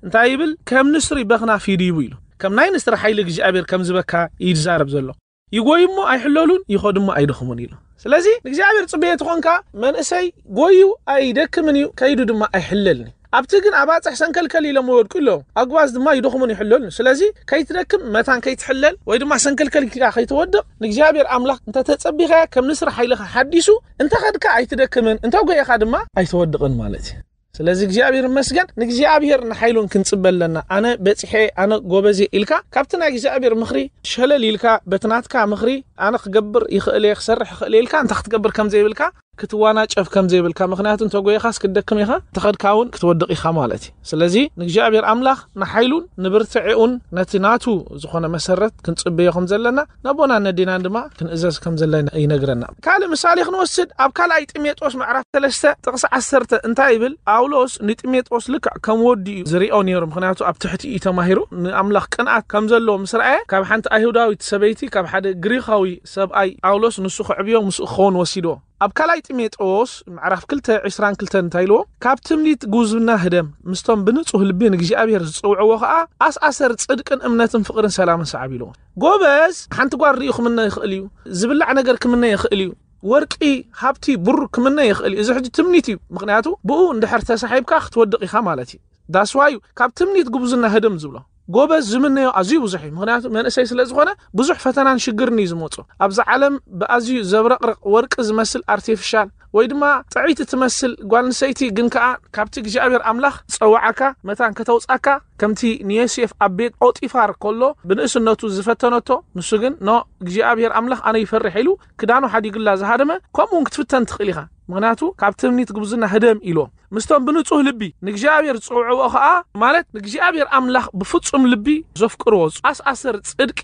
እንታይ ይብል? ከም ንስሪ በኽናፍ ይድይቡ ኢሉ። ከም ናይ ንስሪ ሓይሊ እግዚኣብሔር ከም ዝበካ እዩ ዝዛረብ ዘሎ። ይጎዩ እሞ ኣይሕለሉን፣ ይኸዱ እሞ ኣይደኽሙን ኢሉ። ስለዚ ንእግዚኣብሔር ጽበየ ተኾንካ፣ መንእሰይ ጎዩ ኣይደክምን እዩ፣ ከይዱ ድማ ኣይሕለልን እዩ። ኣብቲ ግን ኣባጽሕ ሰንከልከል ኢሎም ይወድቁ ኣለዉ፣ ኣጉባዝ ድማ ይደኽሙን ይሕለሉን። ስለዚ ከይትደክም መታን ከይትሕለል ወይ ድማ ሰንከልከል ኢልካ ከይትወድቕ ንእግዚኣብሔር ኣምላኽ እንተተጸቢኻዮ ከም ንስሪ ሓይልኻ ሓዲሱ እንተኸድካ ኣይትደክምን፣ እንተጎየኻ ድማ ኣይትወድቕን ማለት እዩ። ስለዚ እግዚኣብሔር ይመስገን፣ ንእግዚኣብሔር ንሓይሉን ክንጽበ ኣለና። ኣነ በጺሐ፣ ኣነ ጎበዜ ኢልካ ካብቲ ናይ እግዚኣብሔር ምኽሪ ሸለል ኢልካ በቲ ናትካ ምኽሪ ኣነ ክገብር ይኽእል እየ፣ ክሰርሕ ይኽእል እየ ኢልካ እንተ ክትገብር ከም ዘይብልካ፣ ክትዋናጨፍ ከም ዘይብልካ፣ ምኽንያቱ እንተጎይኻስ ክትደክም ኢኻ፣ እንተኸድካ እውን ክትወድቕ ኢኻ ማለት እዩ። ስለዚ ንእግዚኣብሔር ኣምላኽ ንሓይሉን ንብርትዒኡን ነቲ ናቱ ዝኾነ መሰረት ክንጽበዮ ከም ዘለና ነቦናን ነዴናን ድማ ክንእዘዝ ከም ዘለና ይነግረና። ካልእ ምሳሌ ክንወስድ ኣብ ካልኣይ ጢሞቴዎስ ምዕራፍ ሰለስተ ጥቕሲ ዓሰርተ እንታይ ይብል? ጳውሎስ ንጢሞቴዎስ ልክዕ ከም ወዲ እዩ ዝሪኦ ነይሩ፣ ምኽንያቱ ኣብ ትሕቲ እዩ ተማሂሩ። ንኣምላኽ ቅንኣት ከም ዘለዎ ምስ ረኣየ ካብ ሓንቲ ኣይሁዳዊት ሰበይቲ ካብ ሓደ ግሪኻዊ ሰብኣይ ጳውሎስ ንሱ ክዕብዮ ምስኡ ክኸውን ወሲድዎ። ኣብ ካልኣይ ጢሞቴዎስ ምዕራፍ ክልተ ዕስራን ክልተን እንታይ ኢልዎ? ካብ ትምኒት ጉብዝና ህደም፣ ምስቶም ብንጹህ ልቢ ንእግዚኣብሔር ዝጽውዕዎ ኸኣ ኣስኣሰር ጽድቅን እምነትን ፍቕርን ሰላምን ሰዓብ ኢልዎ። ጎበዝ ሓንቲ ጓል ርእዩ ክምነ ይኽእል እዩ፣ ዝብላዕ ነገር ክምነ ይኽእል እዩ፣ ወርቂ፣ ሃብቲ፣ ብሩር ክምነ ይኽእል እዩ። እዚ ሕጂ ትምኒት እዩ፣ ምኽንያቱ ብኡ እንድሕር ተሳሒብካ ክትወድቕ ኢኻ ማለት እዩ። ዳስዋዩ ካብ ትምኒት ጉብዝና ህደም ዝብሎ። ጎበዝ ዝምነዮ ኣዝዩ ብዙሕ እዩ፣ ምኽንያቱ መንእሰይ ስለ ዝኾነ ብዙሕ ፈተናን ሽግርን እዩ ዝመጾ። ኣብዛ ዓለም ብኣዝዩ ዘብረቕርቕ ወርቂ ዝመስል ኣርቲፊሻል ወይ ድማ ጥዕይቲ ትመስል ጓል ኣንስተይቲ ግን ከኣ ካብቲ እግዚኣብሔር ኣምላኽ ዝጸውዓካ መታን ከተውጻካ፣ ከምቲ ንዮሴፍ ኣብ ቤት ጶጢፋር ከሎ ብንእስነቱ ዝፈተነቶ፣ ንሱ ግን ኖ እግዚኣብሔር ኣምላኽ ኣነ ይፈርሕ ኢሉ ክዳኑ ሓዲግላ ዝሃደመ፣ ከምኡ እውን ክትፍተን ትኽእል ኢኻ። ምኽንያቱ ካብ ትምኒት ጉብዝና ህደም ኢልዎ። ምስቶም ብንጹህ ልቢ ንእግዚኣብሔር ዝጸውዕዎ ኸኣ፣ ማለት ንእግዚኣብሔር ኣምላኽ ብፍጹም ልቢ ዘፍቅርዎ ኣስኣሰር ጽድቂ፣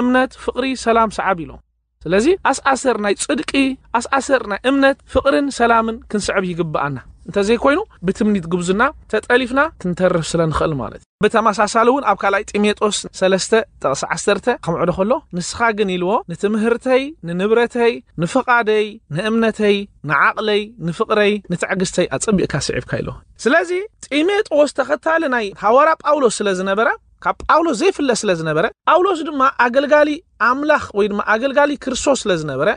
እምነት፣ ፍቕሪ፣ ሰላም ሰዓብ ኢሎም። ስለዚ ኣስኣሰር ናይ ጽድቂ፣ ኣስኣሰር ናይ እምነት፣ ፍቕርን ሰላምን ክንስዕብ ይግብኣና። እንተዘይኮይኑ ብትምኒት ጉብዝና ተጠሊፍና ክንተርፍ ስለ ንኽእል ማለት እዩ። ብተመሳሳሊ እውን ኣብ ካልኣይ ጢሞቴዎስ ሰለስተ ጥቕሲ ዓሰርተ ከምዕዶ ከሎ፣ ንስኻ ግን ኢልዎ ንትምህርተይ፣ ንንብረተይ፣ ንፍቓደይ፣ ንእምነተይ፣ ንዓቕለይ፣ ንፍቕረይ፣ ንትዕግስተይ ኣጸቢቕካ ስዒብካ ኢልዎ። ስለዚ ጢሞቴዎስ ተኸታሊ ናይ ሃዋርያ ጳውሎስ ስለ ዝነበረ፣ ካብ ጳውሎስ ዘይፍለ ስለ ዝነበረ፣ ጳውሎስ ድማ ኣገልጋሊ ኣምላኽ ወይ ድማ ኣገልጋሊ ክርስቶስ ስለ ዝነበረ፣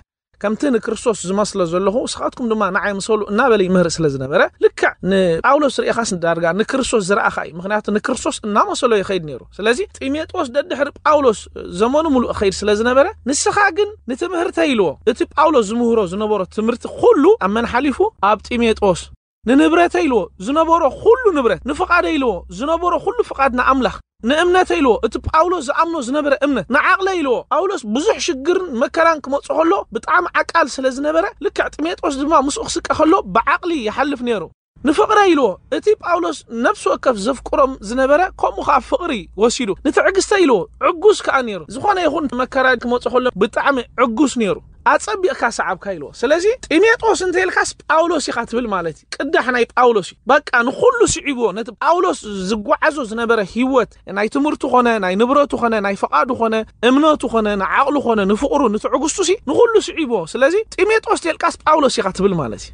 ከምቲ ንክርስቶስ ዝመስሎ ዘለኹ ንስኻትኩም ድማ ንዓይ ምሰሉ እናበለ ይምህር ስለ ዝነበረ፣ ልክዕ ንጳውሎስ ርእኻስ ዳርጋ ንክርስቶስ ዝረኣኻ እዩ። ምኽንያቱ ንክርስቶስ እናመሰሎ ይኸይድ ነይሩ። ስለዚ ጢሞቴዎስ ደድሕሪ ጳውሎስ ዘመኑ ምሉእ ኸይድ ስለ ዝነበረ፣ ንስኻ ግን ንትምህርተይ ኢልዎ። እቲ ጳውሎስ ዝምህሮ ዝነበሮ ትምህርቲ ኩሉ ኣብ መን ሓሊፉ? ኣብ ጢሞቴዎስ። ንንብረተይ ኢልዎ ዝነበሮ ኩሉ ንብረት፣ ንፍቓደይ ኢልዎ ዝነበሮ ኩሉ ፍቓድ ንኣምላኽ፣ ንእምነተይ ኢልዎ እቲ ጳውሎስ ዝኣምኖ ዝነበረ እምነት፣ ንዓቕለይ ኢልዎ። ጳውሎስ ብዙሕ ሽግርን መከራን ክመጾ ከሎ ብጣዕሚ ዓቃል ስለ ዝነበረ፣ ልክዕ ጢሞቴዎስ ድማ ምስኡ ክስቀ ከሎ ብዓቕሊ ይሓልፍ ነይሩ። ንፍቕረይ ኢልዎ እቲ ጳውሎስ ነፍሲ ወከፍ ዘፍቅሮም ዝነበረ፣ ከምኡ ኸኣ ፍቕሪ ወሲዱ። ንትዕግስተይ ኢልዎ ዕጉስ ከኣ ነይሩ። ዝኾነ ይኹን መከራ ክመጾ ከሎ ብጣዕሚ ዕጉስ ነይሩ። ኣጸቢቕካ ሰዓብካ ኢልዎ። ስለዚ ጢሞቴዎስ እንተ ኢልካስ ጳውሎስ ኢኻ ትብል ማለት እዩ። ቅዳሕ ናይ ጳውሎስ እዩ። በቃ ንኹሉ ስዒብዎ፣ ነቲ ጳውሎስ ዝጓዓዞ ዝነበረ ህይወት፣ ናይ ትምህርቱ ኾነ፣ ናይ ንብረቱ ኾነ፣ ናይ ፍቓዱ ኾነ፣ እምነቱ ኾነ፣ ንዓቕሉ ኾነ፣ ንፍቕሩ፣ ንትዕግስቱ ሲ ንኹሉ ስዒብዎ። ስለዚ ጢሞቴዎስ ተልቃስ ጳውሎስ ኢኻ ትብል ማለት እዩ።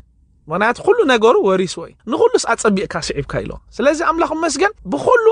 ምኽንያቱ ኩሉ ነገሩ ወሪስዎ እዩ። ንኹሉስ ኣጸቢቕካ ስዒብካ ኢልዎ። ስለዚ ኣምላኽ ይመስገን ብኹሉ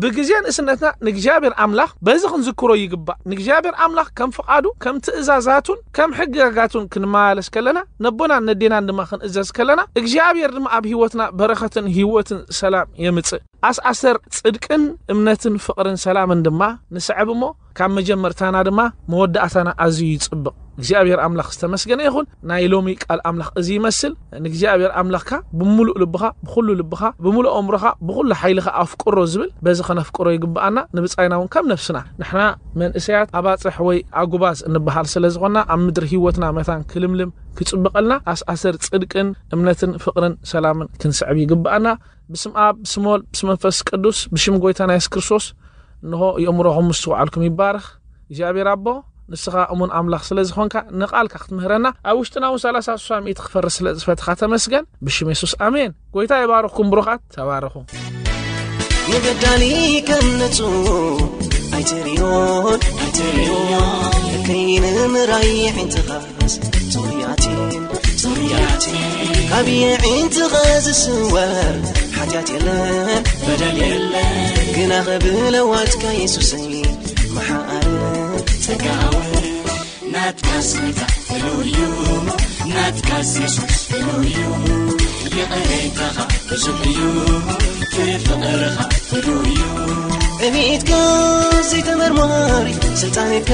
ብግዜ ንእስነትና ንእግዚኣብሔር ኣምላኽ በዚ ክንዝክሮ ይግባእ። ንእግዚኣብሔር ኣምላኽ ከም ፍቓዱ፣ ከም ትእዛዛቱን ከም ሕግጋጋቱን ክንመላለስ ከለና፣ ነቦናን ነዴናን ድማ ክንእዘዝ ከለና፣ እግዚኣብሔር ድማ ኣብ ህይወትና በረኸትን ህይወትን ሰላም የምጽእ። ኣስኣሰር ጽድቅን እምነትን ፍቕርን ሰላምን ድማ ንስዕብ እሞ፣ ካብ መጀመርታና ድማ መወዳእታና ኣዝዩ ይጽብቕ። እግዚኣብሔር ኣምላኽ ዝተመስገነ ይኹን። ናይ ሎሚ ቃል ኣምላኽ እዚ ይመስል። ንእግዚኣብሔር ኣምላኽካ ብምሉእ ልብኻ፣ ብኹሉ ልብኻ፣ ብምሉእ ኣእምሮኻ፣ ብኹሉ ሓይልኻ ኣፍቅሮ ዝብል እዚ ኸነፍቅሮ ይግብኣና፣ ንብጻይና እውን ከም ነፍስና። ንሕና መንእሰያት ኣባጽሕ ወይ ኣጉባዝ እንበሃል ስለ ዝኾንና፣ ኣብ ምድሪ ህይወትና መታን ክልምልም ክጽብቐልና፣ ኣስኣሰር ጽድቅን እምነትን ፍቕርን ሰላምን ክንስዕብ ይግብኣና። ብስም ኣብ፣ ብስም ወልድ፣ ብስም መንፈስ ቅዱስ፣ ብሽም ጎይታና የሱስ ክርስቶስ፣ እንሆ የእምሮኹም ምስ ተዋዕልኩም ይባረኽ። እግዚኣብሔር ኣቦ፣ ንስኻ እሙን ኣምላኽ ስለ ዝኾንካ፣ ንቓልካ ክትምህረና፣ ኣብ ውሽጥና እውን ሰላሳ፣ ስሳ፣ ሚእቲ ክፈርስ ስለ ዝፈትኻ ተመስገን። ብሽም የሱስ፣ ኣሜን። ጎይታ ይባርኽኩም ብሩኻት፣ ተባረኹ። ንበዳሊ ከም ንጹህ ኣይትርእዮን፣ ኣይትርእዮን። ከይንምራይ ኣዒንትኻስ ጽሩያትን፣ ጽሩያትን። ካብ ኣዒንትኻ ዝስወር ሓጢኣት የለን፣ በደል የለን። ግና ብለዋትካ የሱሰይ መሓሪ ጸጋዊ ናትካስ ጎይታ ፍሉይ እዩ፣ ናትካስ የሱስ ፍሉይ እዩ። ይቕሬታኻ ብዙሕ እዩ፣ ፍቕርኻ ፍሉይ እዩ። እሚትካ ዘይተመርማሪ ስልጣንካ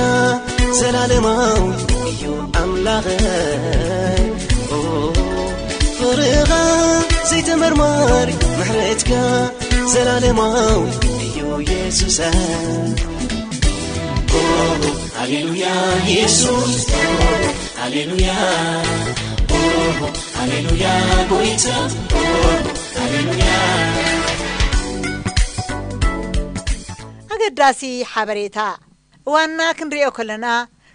ዘላለማዊ እዩ ኣምላኸይ። ኦ፣ ፍቕርኻ ዘይተመርማሪ ምሕረትካ ዘላለማዊ እዩ የሱሰይ። ኦ፣ ሃሌሉያ የሱስ፣ ሃሌሉያ፣ ሃሌሉያ ጎይታ፣ ሃሌሉያ። ኣገዳሲ ሓበሬታ። እዋንና ክንሪኦ ከለና፣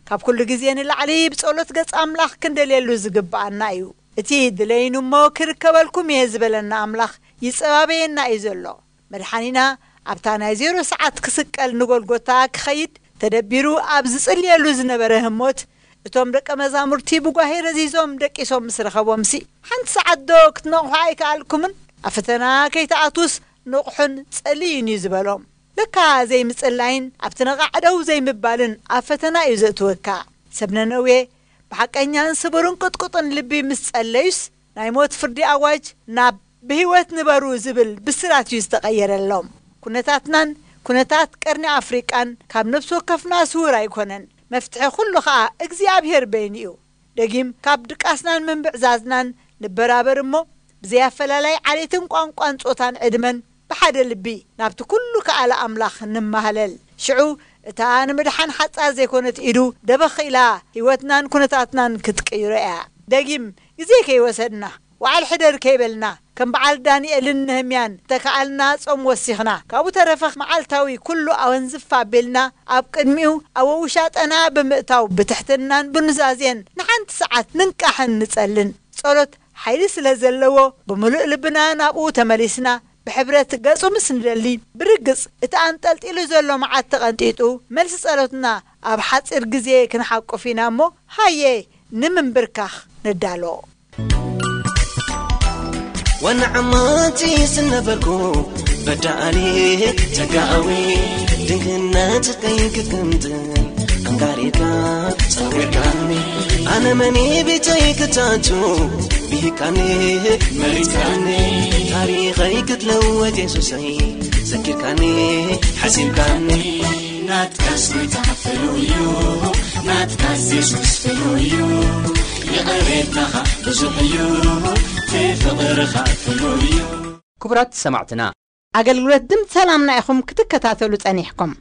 ካብ ኩሉ ግዜ ንላዕሊ ብጸሎት ገጽ ኣምላኽ ክንደልየሉ ዝግብኣና እዩ። እቲ ድለዩኒ እሞ ክርከበልኩም እየ ዝበለና ኣምላኽ ይጸባበየና እዩ ዘሎ። መድሓኒና ኣብታ ናይ ዜሮ ሰዓት ክስቀል ንጎልጎታ ክኸይድ ተደቢሩ ኣብ ዝጽልየሉ ዝነበረ ህሞት፣ እቶም ደቀ መዛሙርቲ ብጓሄ ረዚዞም ደቂሶም ምስ ረኸቦምሲ፣ ሓንቲ ሰዓት ዶ ክትነቕሑ ኣይከኣልኩምን? ኣብ ፈተና ከይትኣትዉስ ንቕሑን ጸልዩን እዩ ዝበሎም። ለካ ዘይምጽላይን ኣብቲ ነቓዕ ደው ዘይምባልን ኣብ ፈተና እዩ ዘእትወካ። ሰብ ነነዌ ብሓቀኛን ስቡርን ቅጥቁጥን ልቢ ምስ ጸለዩስ፣ ናይ ሞት ፍርዲ ኣዋጅ ናብ ብህይወት ንበሩ ዝብል ብስራት እዩ ዝተቐየረሎም። ኩነታትናን ኩነታት ቀርኒ ኣፍሪቃን ካብ ነፍሲ ወከፍና ስዉር ኣይኮነን። መፍትሒ ኩሉ ኸኣ እግዚኣብሔር በይኑ እዩ። ደጊም ካብ ድቃስናን ምንብዕዛዝናን ንበራበር እሞ፣ ብዘይ ኣፈላላይ ዓሌትን ቋንቋን ጾታን ዕድመን ብሓደ ልቢ ናብቲ ኩሉ ከኣለ ኣምላኽ ንማህለል። ሽዑ እታ ንምድሓን ሓጻር ዘይኮነት ኢዱ ደበኽ ኢላ ህይወትናን ኩነታትናን ክትቅይሮ እያ። ደጊም ግዜ ከይወሰድና፣ ወዓል ሕደር ከይበልና፣ ከም በዓል ዳንኤልን ነህምያን ተከኣልና ጾም ወሲኽና፣ ካብኡ ተረፈ መዓልታዊ ኩሉ ኣወንዝፍ ኣቢልና ኣብ ቅድሚኡ ኣብ ውሻጠና ብምእታው ብትሕትናን ብኑዛዜን ንሓንቲ ሰዓት ንንቃሕን ንጸልን። ጸሎት ሓይሊ ስለ ዘለዎ ብምሉእ ልብና ናብኡ ተመሊስና ብሕብረት ገጹ ምስ ንደሊ ብርግጽ እቲ ኣንጠልጢሉ ዘሎ መዓት ተቐንጢጡ መልሲ ጸሎትና ኣብ ሓጺር ግዜ ክንሓቁፍ ኢና እሞ ሃየ ንምንብርካኽ ንዳሎ። ዋና ዓማጺ ዝነበርኩ በዳኣሊ ተጋኣዊ ድንግነትከይ ክትግምጥል ኣንጋሪካ ጸዊርካኒ ኣነ መኒ ቤተይ ክታቱ ብሂካኒ መሪታኒ ታሪኸይ ክትለወጥ የሱሰይ ዘኪርካኒ ሓሲብካኒ ናትካስ ጎይታ ፍሉይ እዩ ናትካስ የሱስ ፍሉይ እዩ ይቕሬታኻ ብዙሕ እዩ ፍቕርኻ ፍሉይ እዩ ክቡራት ሰማዕትና ኣገልግሎት ድምፂ ሰላምና ኢኹም ክትከታተሉ ጸኒሕኩም።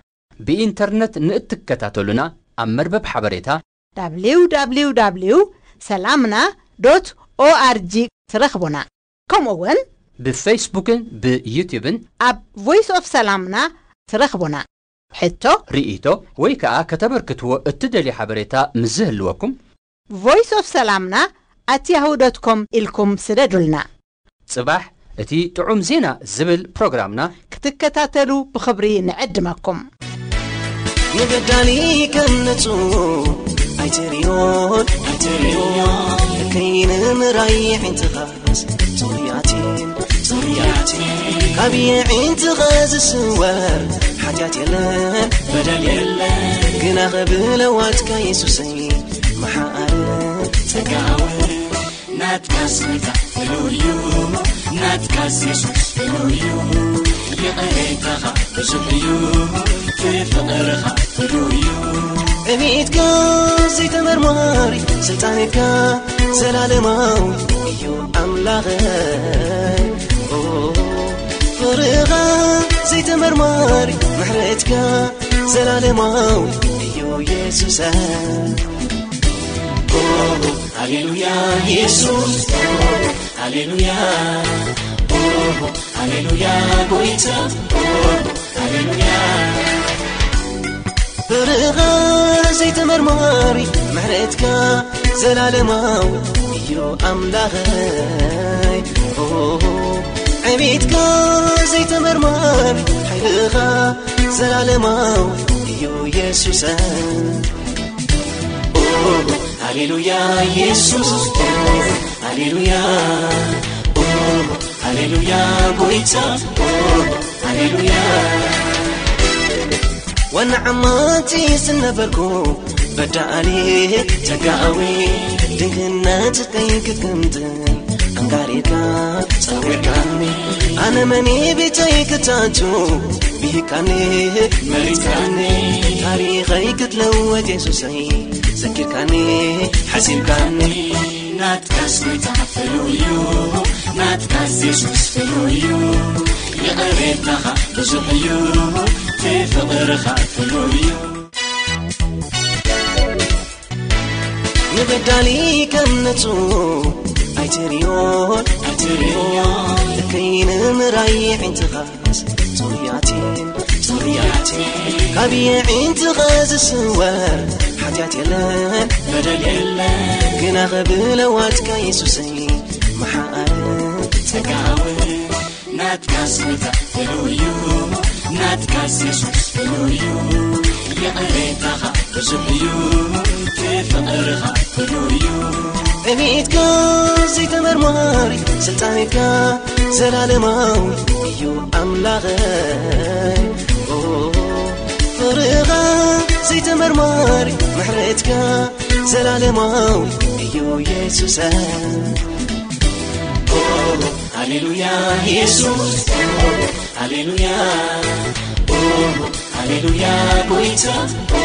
ብኢንተርነት ንእትከታተሉና ኣብ መርበብ ሓበሬታ www ሰላምና ዶት ኦኣርጂ ትረኽቡና። ከምኡ እውን ብፌስቡክን ብዩትዩብን ኣብ ቮይስ ኦፍ ሰላምና ትረኽቡና። ሕቶ፣ ርእይቶ ወይ ከዓ ከተበርክትዎ እትደልዩ ሓበሬታ ምስ ዝህልወኩም voice of ሰላምና at yahoo dot com ኢልኩም ስደዱልና። ጽባሕ እቲ ጥዑም ዜና ዝብል ፕሮግራምና ክትከታተሉ ብኽብሪ ንዕድመኩም። ንበዳሊ ከም ንጹህ ኣይትርእዮን ኣይትርእዮን ከይንምራይ ዒንትኻስ ጽሩያትን ጽሩያትን ካብ የዒንትኻ ዝስወር ሓጢኣት የለን በደል የለን ግና ኽብለዋትካ የሱሰይ መሓርን ጸጋውን ናትካስ ጎይታ ፍሉይ እዩ ናትካስ የሱስ ፍሉይ እዩ ይቕሬታኻ ብዙሕ እዩ ፍቕርኻ ፍሉይ እዩ እቤትካ ዘይተመርማሪ ስልጣንካ ዘላለማዊ እዩ ኣምላኸይ ፍቕርኻ ዘይተመርማሪ ምሕረትካ ዘላለማዊ እዩ የሱሰ። ኦ፣ ሃሌሉያ የሱስ፣ ኦ፣ ሃሌሉያ፣ ኦ፣ ሃሌሉያ ጎይታ፣ ኦ፣ ሃሌሉያ። ፍቕርኻ ዘይተመርማሪ ምሕረትካ ዘላለማዊ እዩ ኣምላኸይ። ኦ፣ ዕቤትካ ዘይተመርማሪ ሓይልኻ ዘላለማዊ እዩ የሱሰ። ኦ፣ ሃሌሉያ የሱስ፣ ኦ፣ ሃሌሉያ፣ ኦ፣ ሃሌሉያ ጎይታ፣ ኦ፣ ሃሌሉያ። ዋና ዓማጺ ዝነበርኩ በዳኣሊ ተጋዊ ድንግነትከይ ክክምትን ኣንጋሪካ ጸዊርካኒ። ኣነ መኒ ቤተይ ክታቱ ብሂካኒ መሪጻኒ። ታሪኸይ ክትለወጥ የሱሰይ ዘኪርካኒ ሓሲብካኒ። ናትካስ ጎይታ ፍሉይ እዩ፣ ናትካስ የሱስ ፍሉይ እዩ። ይቕሬታኻ ብዙሕ እዩ፣ እቲ ፍቕርኻ ፍሉይ እዩ። ንበዳሊ ከም ንጹህ ኣይትርእዮን፣ ኣይትርእዮን። እከይ ንምራይ ኣዒንትኻስ ጽሩያት እየን፣ ጽሩያት እየን። ካብ ኣዒንትኻ ዝስወር ሓጢኣት የለን፣ በደል የለን። ግና ብለዋትካ የሱሰይ መሓርን ጸጋውን ናትካስ ጎይታ ፍሉይ እዩ፣ ናትካስ የሱስ ፍሉይ እዩ። ይቕሬታኻ ብዙሕ እዩ፣ እቲ ፍቕርኻ ፍሉይ እዩ። ዕቤትካ ዘይተመርማሪ ስልጣንካ ዘላለማዊ እዩ ኣምላኸይ። ኦ፣ ፍቕርኻ ዘይተመርማሪ ምሕረትካ ዘላለማዊ እዩ የሱሰ። ኦ፣ ሃሌሉያ የሱስ፣ ኦ፣ ሃሌሉያ፣ ኦ፣ ሃሌሉያ ጎይታ፣ ኦ፣